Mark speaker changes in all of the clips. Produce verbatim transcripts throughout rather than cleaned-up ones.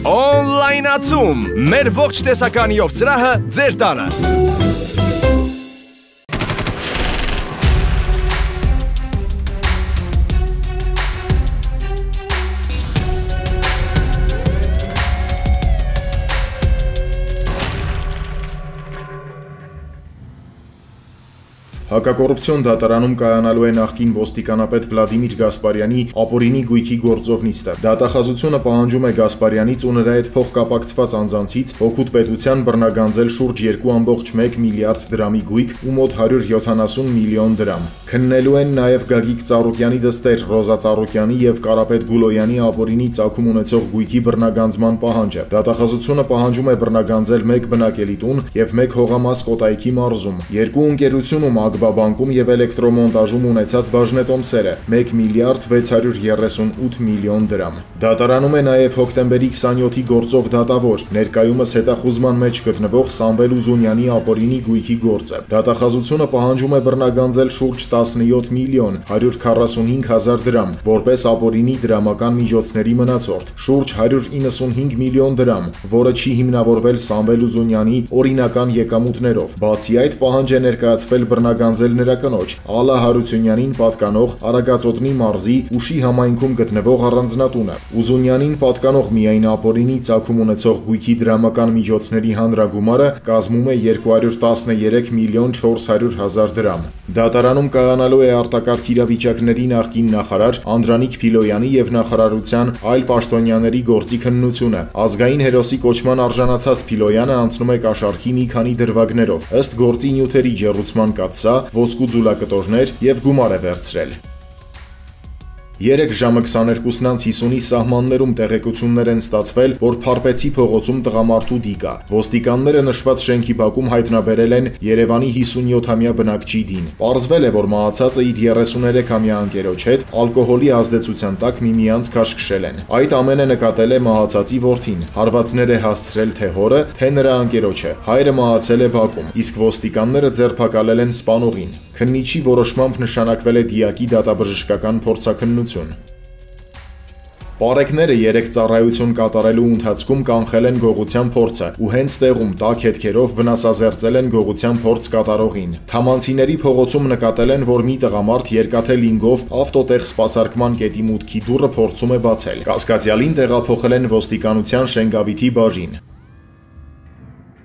Speaker 1: Օնլայնացում։ Մեր ողջ տեսականիով սրահը ձեր տանը։
Speaker 2: Հակակոռուպցիոն դատարանում կայանալու է նախկին ոստիկանապետ Վլադիմիր Գասպարյանի ապօրինի գույքի գործով նիստը։ Դատախազությունը պահանջում է Գասպարյանից ու նրա հետ փոխկապակցված անձանցից օգուտ պետության բռնագանձել շուրջ երկու կόμma մեկ միլիարդ դրամի գույք ու մոտ հարյուր յոթանասուն միլիոն դրամ։ Քննելու են նաև Գագիկ Ծառուկյանի դստեր Ռոզա Ծառուկյանի եւ Կարապետ Գուլոյանի ապօրինի ծագում ունեցող գույքի բռնագանձման պահանջը։ Դատախազությունը պահանջում է բռնագանձել մեկ բնակելի տուն եւ մեկ հողամաս Կոտայքի մարզում։ Երկու ընկերությունում Ագբաբանկում եւ էլեկտրոմոնտաժում ունեցած բաժնետոմսերը մեկ միլիարդ վեց հարյուր երեսունութ միլիոն դրամ։ Դատարանում է նաև հոկտեմբերի քսանյոթի գործով դատավոր, ներկայումս հետախուզման մեջ գտնվող Սամվել Ուզունյանի ապօրինի գույքի գործը։ Դատախազությունը պահանջում է բռնագանձել շուրջ տասնյոթ միլիոն հարյուր քառասունհինգ հազար դրամ, որպես ապօրինի դրամական միջոցների մնացորդ, շուրջ հարյուր իննսունհինգ միլիոն դրամ, որը չի հիմնավորվել Սամվել Ուզունյանի օրինական եկամուտներով։ Բացի այդ, պահանջ է ներկայացվել բռնագանձել նրա կնոջ Ալա Հարությունյանին պատկանող Արագածոտնի մարզի Ուշի համայնքում գտնվող առանձնատունը։ Ուզունյանին պատկանող միայն ապօրինի ծագում ունեցող գույքի դրամական միջոցների հանրագումարը կազմում է երկու հարյուր տասներեք միլիոն չորս հարյուր հազար դրամ։ Դատարանում կայանալու է արտակարգ իրավիճակների նախկին նախարար Անդրանիկ Փիլոյանի եւ նախարարության այլ պաշտոնյաների գործի քննությունը։ Ազգային հերոսի կոչման արժանացած Փիլոյանը անցնում է կաշառքի մի քանի դրվագներով։ Ըստ գործի նյութերի ջեռուցման կաթսա, ոսկու ձուլակտորներ եւ գումար է վերցրել։ Երեք ժամը քսաներկուսն անց հիսունի սահմաններում տեղեկություններ են ստացվել, որ Փարպեցի փողոցում տղամարդու դիկ կա։ Ոստիկանները նշված շենքի բակում հայտնաբերել են Երևանի հիսունյոթամյա բնակչի դին։ Պարզվել է, որ մահացածը իր երեսուներեքամյա ընկերոջ հետ ալկոհոլի ազդեցության տակ միմյանց քաշքշել են։ Այդ ամենը նկատել է մահացածի որդին։ Հարվածներ է հասցրել թե հորը, թե նրա ընկերոջը։ Հայրը մահացել է բակում, իսկ ոստիկանները ձերբակալել են սպանողին։ Քննիչի որոշմամբ նշանակվել է դիակի դատաբժշկական փորձաքննություն։ Պարեկները երեք ծառայություն կատարելու ընթացքում կանխել են գողության փորձը ու հենց տեղում տաք հետքերով վնասազերծել են գողության փորձ կատարողին։ Թամանցիների փողոցում նկատել են, որ մի տղամարդ երկաթե լինգով ավտոտեղ սպասարկման կետի մուտքի դուռը փորձում է բացել։ Կասկածյալին տեղափոխել են ոստիկանության Շենգավիթի բաժին։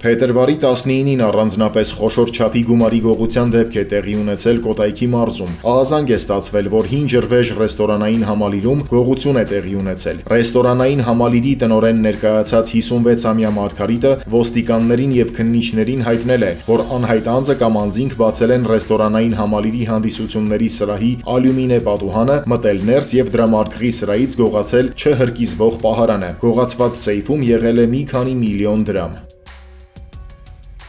Speaker 2: Փետրվարի տասնինին առանձնապես խոշոր չափի գումարի գողության դեպք է տեղի ունեցել Կոտայքի մարզում։ Ահազանգ է ստացվել, որ հին ջրվեժ ռեստորանային համալիրում գողություն է տեղի ունեցել։ Ռեստորանային համալիրի տնօրեն ներկայացած հիսունվեցամյա Մարգարիտը ոստիկաններին եւ քննիչներին հայտնել է, որ անհայտ անձը կամ անձինք բացել են ռեստորանային համալիրի հանդիսությունների սրահի ալյումինե պատուհանը, մտել ներս եւ դրամարկղի սրահից գողացել չհրկիզվող պահարանը։ Գողացված սեյֆում եղել է մի քանի միլիոն դրամ։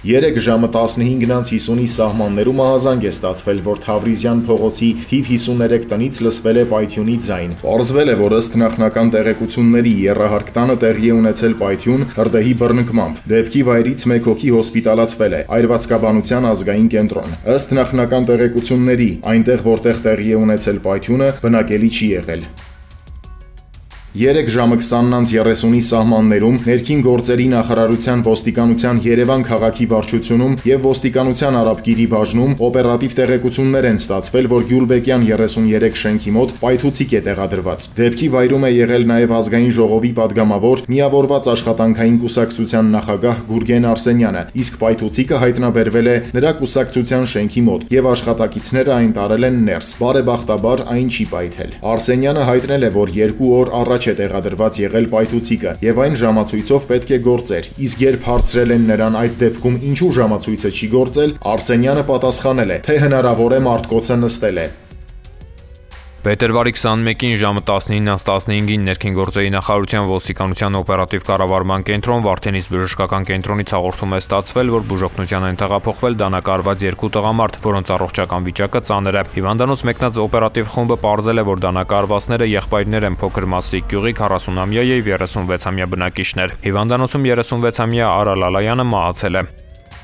Speaker 2: Երեք ժամը տասնհինգն անց հիսունի սահմաններում ահազանգ է ստացվել, որ Թավրիզյան փողոցի թիվ հիսուներեք տնից լսվել է պայթյունի ձայն։ Պարզվել է, որ ըստ նախնական տեղեկությունների եռահարկ տանը տեղի է ունեցել պայթյուն հրդեհի բռնկմամբ։ Դեպքի վայրից մեկ հոգի հոսպիտալացվել է Այրվածքաբանության ազգային կենտրոն։ Ըստ նախնական տեղեկությունների, այնտեղ որտեղ տեղի է ունեցել պայթյունը, բնակելի չի եղել։ Երեք ժամը քսանն անց երեսունի սահմաններում ներքին գործերի նախարարության ոստիկանության Երևան քաղաքի վարչությունում եւ ոստիկանության Արաբկիրի բաժնում օպերատիվ տեղեկություններ են ստացվել, որ Գյուլբեկյան երեսունյերեք շենքի մոտ պայթուցիկ է տեղադրված։ Դեպքի վայրում է եղել նաեւ ազգային ժողովի падգամավոր միավորված աշխատանքային կուսակցության նախագահ Գուրգեն Արսենյանը, իսկ պայթուցիկը հայտնաբերվել է նրա կուսակցության շենքի մոտ եւ աշխատակիցները այն տարել են ներս։ Բարեբախտաբար այն չի պայթել։ Արսենյանը հայտնել է, որ երկու օր առաջ է տեղադրված եղել պայթուցիկը եւ այն ժամացույցով պետք է գործեր, իսկ երբ հարցրել են նրան այդ դեպքում ինչու ժամացույցը չի գործել, Արսենյանը պատասխանել է, թե հնարավոր է մարտկոցը նստել է։
Speaker 3: Փետրվարի քսանմեկին ժամը տասնինից տասնհինգին ներքին գործերի նախարարության ոստիկանության օպերատիվ կառավարման կենտրոն Վարդենիս բժշկական կենտրոնից հաղորդում է ստացվել, որ բուժօգնության են տեղափոխվել դանակարված երկու տղամարդ, որոնց առողջական վիճակը ծանր է։ Հիվանդանոց մեկնած օպերատիվ խումբը պարզել է, որ դանակարվածները եղբայրներ են Փոքր Մասրիկ գյուղի քառասունամյա եւ երեսունվեցամյա բնակիչներ։ Հիվանդանոցում երեսունվեցամյա Արա Լալայանը մահացել է։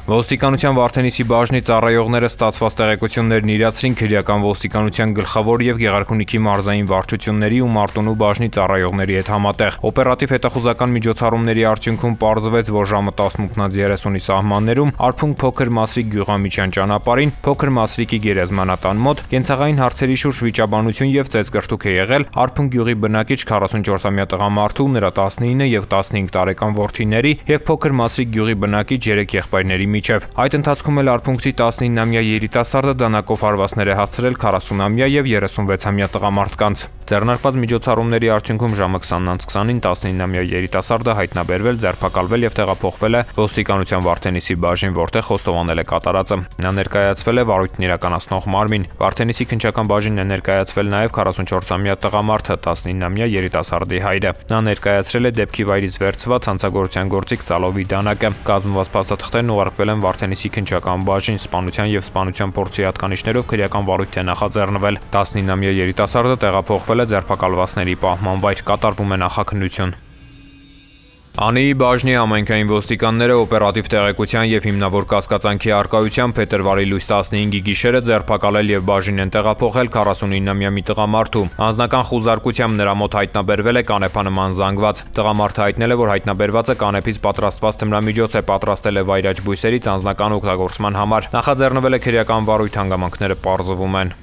Speaker 3: Ոստիկանության Վարդենիսի բաժնի ծառայողները ստացված տեղեկություններն իրացրին քրեական ոստիկանության գլխավոր եւ Գեղարքունիքի մարզային վարչությունների ու Մարտունու բաժնի ծառայողների հետ համատեղ։ Օպերատիվ հետախուզական միջոցառումների արդյունքում պարզվեց, որ ժամը տասնութ երեսունի սահմաններում Արփունք Փոքր Մասրիկ գյուղամիջյան ճանապարհին Փոքր Մասրիկի գերեզմանատան մոտ կենցաղային հարցերի շուրջ վիճաբանություն եւ ծեծկրտուք է եղել Արփունք գյուղի բնակիչ քառասունչորսամյա տղամարդու, նրա տասնինը եւ տասնհինգ տարեկան որդիների եւ Փոքր Մասրիկ գյուղի բնակիչ երեք եղբայրների միջև։ Այդ ընթացքում էլ արփունքցի տասնինամյա երիտասարդը դանակով հարվածներ է հասցրել քառասունամյա եւ երեսունվեցամյա տղամարդկանց։ Ձեռնարկված միջոցառումների արդյունքում ժամը քսանից քսանին տասնինամյա երիտասարդը հայտնաբերվել, ձերբակալվել եւ տեղափոխվել է ոստիկանության Վարդենիսի բաժին, որտեղ խոստովանել է կատարածը։ Նա ներկայացվել է վարույթն իրականացնող մարմին։ Վարդենիսի քննչական բաժինն է ներկայացվել նաեւ քառասունչորսամյա տղամարդը, տասնինամյա երիտասարդի հայրը։ Նա ներկայացրել է դեպքի վայրից վերցված հանցագործության գործիք ծալովի դանակը։ Կազմված փաստաթղթերն ուղարկվել են Վարդենիսի քննչական բաժին, սպանության եւ սպանության փորձի հատկանիշներով քրեական վարույթ է նախաձեռնվել։ տասնինամյա երիտասարդը տեղափոխվել է ձերբակալվածների պահման վայր, կատարվում է նախաքննություն։ Անիի բաժնի համայնքային ոստիկանները օպերատիվ տեղեկության եւ հիմնավոր կասկածանքի առկայությամբ փետրվարի լույս տասնհինգի գիշերը ձերբակալել եւ բաժին են տեղափոխել քառասունինամյա մի տղամարդու։ Անձնական խուզարկությամբ նրա մոտ հայտնաբերվել է կանեփանման զանգված։ Տղամարդը հայտնել է, որ հայտնաբերվածը կանեփից պատրաստված թմրամիջոց է, պատրաստել է վայրաճ բույսերից անձնական օգտագործման համար։ Նախաձեռնվել է քրեական վարույթ, հանգամանքները պարզվում են։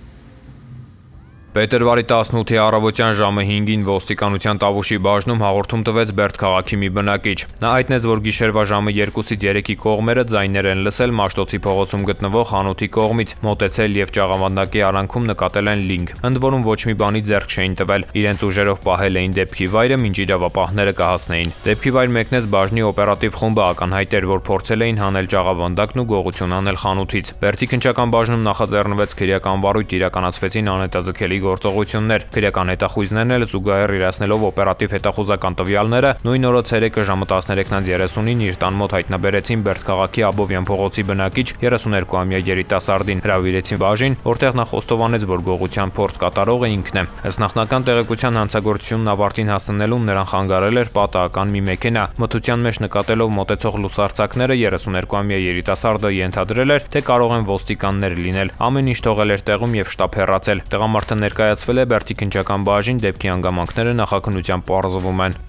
Speaker 3: Փետրվարի տասնութի առավոտյան ժամը հինգին ոստիկանության Տավուշի բաժնում հաղորդում տվեց Բերդ քաղաքի մի բնակիչ։ Նա հայտնեց, որ գիշերվա ժամը երկուսից երեկի կողմերը ձայներ են լսել Մաշտոցի փողոցում գտնվող խանութի կողմից, մոտեցել եւ ճաղավանդակի արանքում նկատել են լինգ, ընդ որում ոչ մի բանի ձեռք չէին տվել։ Իրենց ուժերով պահել էին դեպքի վայրը, մինչ իրավապահները կհասնեին։ Դեպքի վայր մեկնեց բաժնի օպերատիվ խումբը, ակնհայտ էր, որ փորձել էին հանել ճաղավանդակն ու գողություն անել խանութից։ Բերդի քննչական բաժնում նախաձեռնվեց քրեական վարույթ, իրականացվեցին անհետաձգելի գործողություններ։ Քրեական հետախույզներն էլ զուգահեռ իրացնելով օպերատիվ հետախուզական տվյալները նույն օրը ցերեկը ժամը տասներեքից երեսունին իր տան մոտ հայտնաբերեցին Բերդ քաղաքի Աբովյան փողոցի բնակիչ երեսուներկուամյա երիտասարդին, հրավիրեցին բաժին, որտեղ նա խոստովանեց, որ գողության փորձ կատարողը ինքն է։ Ըստ նախնական տեղեկության հանցագործությունն ավարտին հասնելուն նրան խանգարել էր պատահական մի մեքենա։ Մթության մեջ նկատելով մոտեցող լուսարձակները երեսուներկուամյա երիտասարդը ենթադրել էր, թե կարող են ոստիկաններ լինել։ Ամեն ինչ թողել էր տեղում եւ շտապ հեռացել։ Տղամարդը ներկայացվել է Բերդի քննչական բաժին, դեպքի հանգամանքները նախաքննության պարզվում են։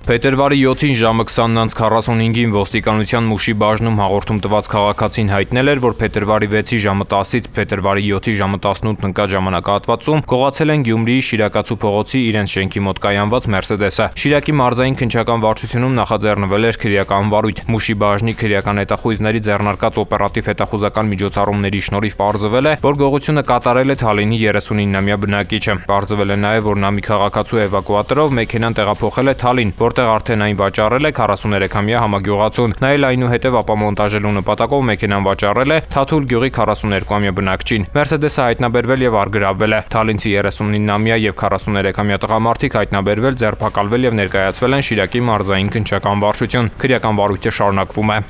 Speaker 3: Փետրվարի յոթին ժամը քսանից քառասունհինգին ոստիկանության Մուշի բաժնում հաղորդում տված քաղաքացին հայտնել էր, որ փետրվարի վեցի ժամը տասից փետրվարի յոթի ժամը տասնութ ընկած ժամանակահատվածում գողացել են Գյումրիի Շիրակացու փողոցի իրենց շենքի մոտ կայանված Մերսեդեսը։ Շիրակի մարզային քննչական վարչությունում նախաձեռնվել էր քրեական վարույթ։ Մուշի բաժնի քրեական հետախույզների ձեռնարկած օպերատիվ հետախուզական միջոցառումների շնորհիվ պարզվել է, որ գողությունը կատարել է Թալինի երեսունինամյա բնակիչը։ Պարզվել է նաև, որ նա մի քաղաքացու էվակուատորով մեքենան տեղափոխել է Թալին, որտեղ արդեն այն վաճառել է քառասուներեքամյա համագյուղացուն։ Նա էլ այնուհետև ապամոնտաժելու նպատակով մեքենան վաճառել է Թաթուլ գյուղի քառասուներկուամյա բնակչին։ Մերսեդեսը հայտնաբերվել եւ առգրավվել է։ Թալինցի երեսունինամյա եւ քառասուներեքամյա տղամարդիկ հայտնաբերվել, ձերբակալվել եւ ներկայացվել են Շիրակի մարզային քննչական վարչություն։ Քրեական վարույթը շարունակվում է։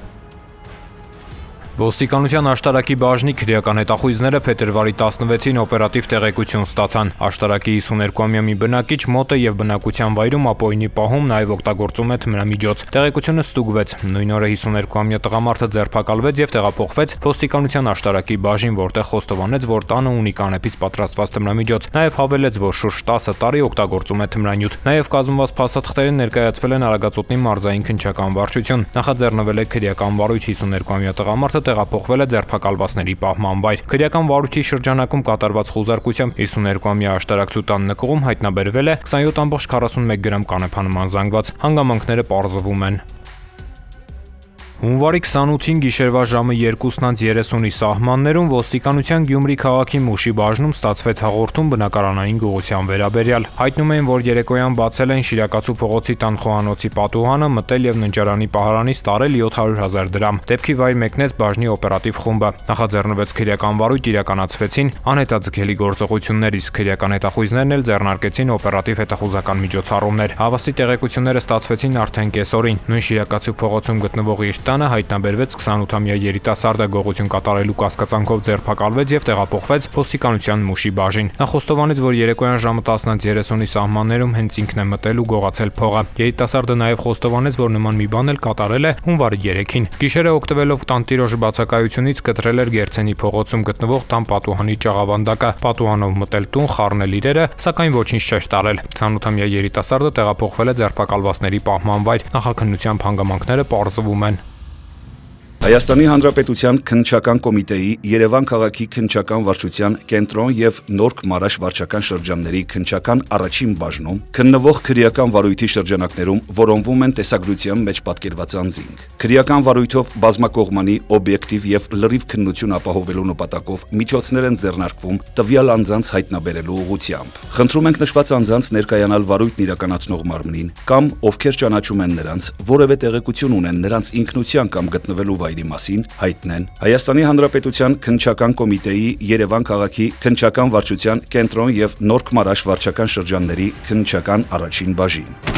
Speaker 3: Ոստիկանության աշտարակի բաժնի քրեական հետախույզները փետրվարի տասնվեցին օպերատիվ տեղեկություն ստացան։ Աշտարակի հիսուներկուամյա մի բնակիչ մոտ է եւ բնակության վայրում ապօրինի պահում նաեւ օգտագործում է թմրամիջոց։ Տեղեկությունը ստուգվեց։ Նույն օրը հիսուներկուամյա տղամարդը ձերբակալվեց եւ տեղափոխվեց ոստիկանության աշտարակի բաժին, որտեղ խոստովանեց, որ տանը ունի կանեփից պատրաստված թմրամիջոց։ Նաեւ հավելեց, որ շուրջ տասը տարի օգտագործում է թմրանյութ։ Նաեւ կազմված փաստաթղթերին ներկայացվել են Արագածոտնի մարզային քննչական վարչություն։ Նախաձեռնվել է քրեական վարույթ, հիսուներկուամյա տղամարդը տեղափոխվել է ձերբակալվածների պահման վայր։ Քրեական վարույթի շրջանակում կատարված խուզարկությամբ հիսուներկուամյա աշտարակցու տան նկուղում հայտնաբերվել է քսանյոթ կόμμα քառասունմեկ գրամ կանեփանման զանգված։ Հանգամանքները պարզվում են։ Հունվարի քսանութին գիշերվա ժամը երկուսից երեսունի սահմաններում ոստիկանության Գյումրի քաղաքի Մուշի բաժնում ստացվեց հաղորդում բնակարանային գողության վերաբերյալ։ Հայտնում էին, որ երեկոյան բացել են Շիրակացու փողոցի տան խոհանոցի պատուհանը, մտել եւ ննջարանի պահարանից տարել յոթ հարյուր հազար դրամ։ Դեպքի վայր մեկնեց բաժնի օպերատիվ խումբը։ Նախաձեռնվեց քրեական վարույթ, իրականացվեցին անհետաձգելի գործողություններ, իսկ քրեական հետախույզներն էլ ձեռնարկեցին օպերատիվ հետախուզական միջոցառումներ։ Հավաստի տեղեկությունները ստացվեցին արդեն կեսօրին։ Նույն Շիրակացու փողոցում գտնվող իր տանը հայտնաբերվեց քսանութամյա երիտասարդը, գողություն կատարելու կասկածանքով ձերբակալվեց եւ տեղափոխվեց ոստիկանության Մուշի բաժին։ Նա խոստովանեց, որ երեկոյան ժամը տասնից երեսունի սահմաններում հենց ինքն է մտել ու գողացել փողը։ Երիտասարդը նաեւ խոստովանեց, որ նման մի բան էլ կատարել է հունվարի երեքին։ Գիշերը օգտվելով տանտիրոջ բացակայությունից կտրել էր Գերցենի փողոցում գտնվող տան պատուհանի ճաղավանդակը, պատուհանով մտել տուն, խառնել իրերը, սակայն ոչինչ չէր տարել։ քսանութամյա երիտասարդը տեղափոխվել է ձերբակալվածների պահման վայր։ Նախաքննության հանգամանքները պարզվում են։
Speaker 4: Հայաստանի Հանրապետության քննչական կոմիտեի Երևան քաղաքի քննչական վարչության կենտրոն եւ Նորք Մարաշ վարչական շրջանների քննչական առաջին բաժնում քննվող քրեական վարույթի շրջանակներում որոնվում են տեսագրության մեջ պատկերված անձինք։ Քրեական վարույթով բազմակողմանի, օբյեկտիվ եւ լրիվ քննություն ապահովելու նպատակով միջոցներ են ձեռնարկվում տվյալ անձանց հայտնաբերելու ուղղությամբ։ Խնդրում ենք նշված անձանց ներկայանալ վարույթն իրականացնող մարմնին կամ ովքեր ճանաչում են նրանց, որևէ տեղեկություն ունեն նրանց ինքնության կամ գտնվելու վայրի մասին հայտնեն Հայաստանի Հանրապետության քննչական կոմիտեի Երևան քաղաքի քննչական վարչության կենտրոն եւ Նորք Մարաշ վարչական շրջանների քննչական առաջին բաժին։